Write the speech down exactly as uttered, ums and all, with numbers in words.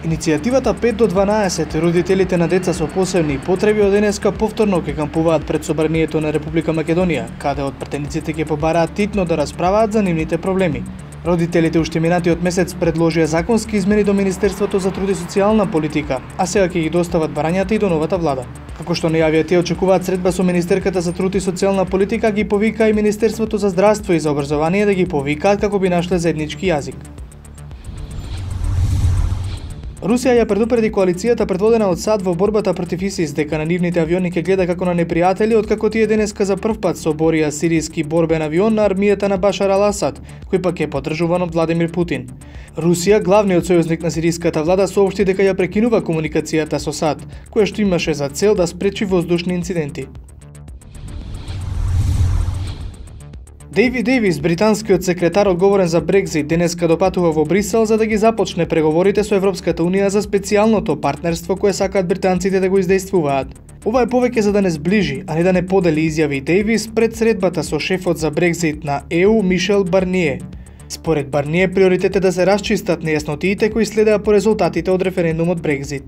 Иницијативата пет до дванаесет, родителите на деца со посебни потреби од денеска повторно ќе кампуваат пред Собранието на Република Македонија, каде од претениците ќе побараат титно да расправаат за нивните проблеми. Родителите уште минатиот месец предложија законски измени до Министерството за труд и социјална политика, а сега ќе ги достават барањата и до новата влада. Како што најавија, тие очекуваат средба со Министерката за труд и социјална политика, ги повика и Министерството за здравство и за образование да ги повикаат како би нашле заеднички јазик. Русија ја предупреди коалицијата предводена од САД во борбата против ИСИС дека на нивните авиони ќе гледа како на непријатели, откако тие денеска за прв пат соборија сиријски борбен авион на армијата на Башар ал-Асад, кој пак е поддржуван од Владимир Путин. Русија, главниот сојузник на сиријската влада, соопшти дека ја прекинува комуникацијата со САД, која што имаше за цел да спречи воздушни инциденти. Дейвид Дейвис, британскиот секретар одговорен за Брекзит, денеска допатува во Брисел за да ги започне преговорите со Европската унија за специјалното партнерство кое сакаат британците да го издействуваат. Ова е повеќе за да не сближи, а не да не подели, изјави Дейвис пред средбата со шефот за Брекзит на Е У Мишел Барние. Според Барние, приоритет е да се расчистат нејаснотиите кои следеа по резултатите од референдумот Брекзит.